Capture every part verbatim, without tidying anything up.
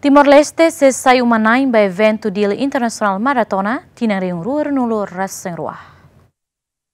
Timor-Leste sei sai uma-na'in ba eventu Dili Internasionál Maratona tinan rihun rua ruanulu-resin-rua.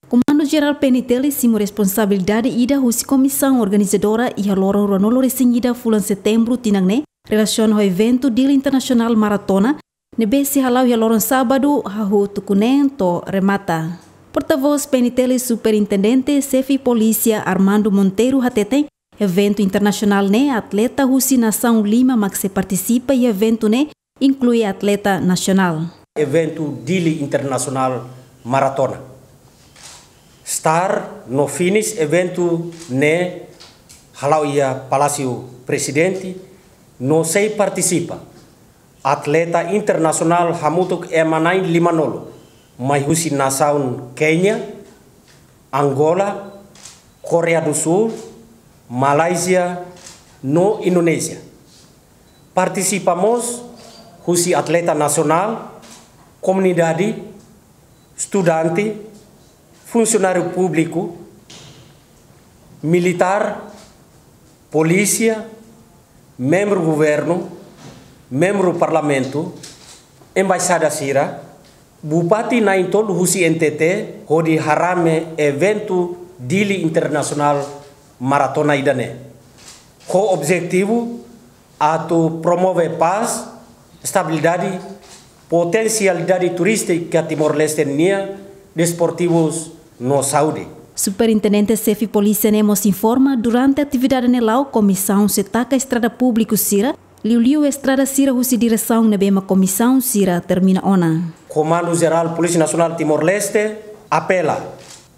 Komandu Jerál P N T L simu responsabilidade ida husi komisaun organizadora iha loron ruanulu-resin-ida fulan Setembru tinan ne'e, relasiona ho eventu Dili Internasionál Maratona, ne'ebé sei hala'o iha loron sábadu, hahú tuku neen to'o remata. Portavós P N T L Superintendente Xefe Polísia Armando Monteiro hateten, eventu internasionál ne'e atleta husi nasaun lima mak sei partisipa iha eventu ne'e, inklui atleta nasionál. Eventu Dili Internasionál Maratona. Start no finish eventu ne'e hala'o iha Palásiu Prezidente, no sei partisipa atleta internasionál hamutuk ema na'in limanulu, mai husi nasaun Kénia, Angola, Koreia do Sul, Malázia, no Indonézia. Partisipa mós husi atleta nasionál, komunidade, estudante, funsionáriu públiku, militár, polísia, membru governu, membru parlamentu, embaixada sira, bupati na'in-tolu husi N T T, hodi harame eventu Dili Internasionál Maratona ida-ne'e. Ho objetivu atu promove pás, estabilidade, potensialidade turístika Timor-Leste nian, desportivus no saúde. Superintendente Xefe Polísia ne'e mós informa, durante atividade ne'e la'o, komisaun sei taka estrada públiku sira, liuliu estrada sira husi diresaun ne'ebé mak komisaun sira termina ona. Komandu Jerál Polísia Nasionál Timor-Leste apela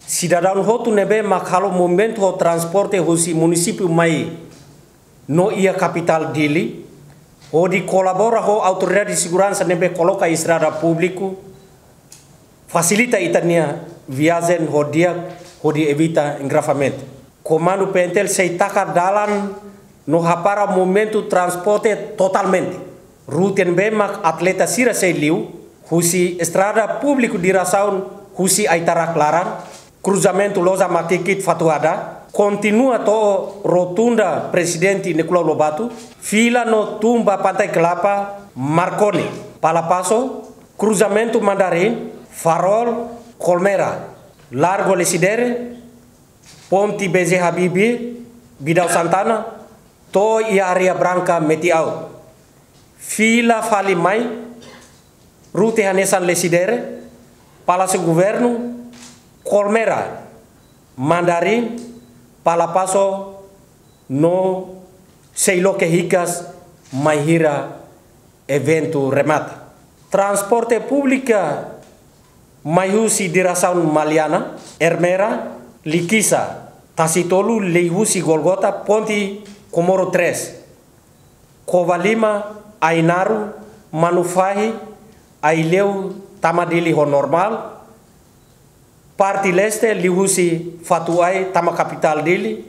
sidadaun hotu ne'ebé mak halo movimentu ho transporte husi munisípiu mai no iha kapitál Dili, hodi kolabora ho autoridade seguransa ne'ebé koloka estrada públiku, fasilita ita-nia viajen ho di'ak, hodi evita engarrafamentu. Komandu P N T L sei taka dalan no hapara movimentu transporte totalmente. Rute ne'ebé mak atleta sira sei liu, husi estrada públiku diresaun husi Aitarak Laran, kruzamentu Loja Matikit Fatuhada, kontinua to'o rotunda Prezidente Nicolau Lobato, fila no tun ba Pantai Kelapa, Marconi, Palapaso, kruzamentu Mandarin, Farol, Kolmera, Largo Lecidere, ponte B J Habibie, Vidal Santana, to'o iha Areia Branca Metiau. Fila fali mai, rute hanesan Lecidere, Palásiu Governu, Kolmera, Mandarin, Palapaso, no sei loke hikas mai hira eventu remata. Transporte públika mai husi diresaun Maliana, Ermera, Likisá, Tasitolu, liuhusi Golgota, ponte Comoro três, Covalima, Ainaro, Manufahi, Aileu, tama Dili ho normál, parte leste, liuhusi Fatuai, tama kapitál Dili,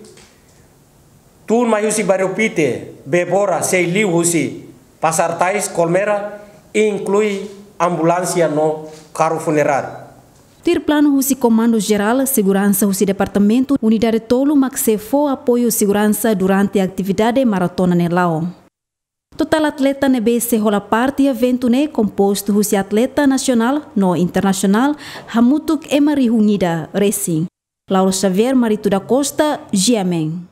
tun mai husi Bairru Pite, Bebora, sei liuhusi Pasar Tais, Kolmera, inklui ambulánsia no karru funeráriu. Tuir planu husi Komandu Jerál, seguransa husi departamentu, unidade tolu mak sei fó apoiu seguransa durante atividade maratona ne'e la'o. Totál atleta ne'ebé sei hola parte eventu ne'e kompostu husi atleta nasionál no internasionál, hamutuk ema rihun ida resin. Laura Xavier, Marito da Costa, G M N.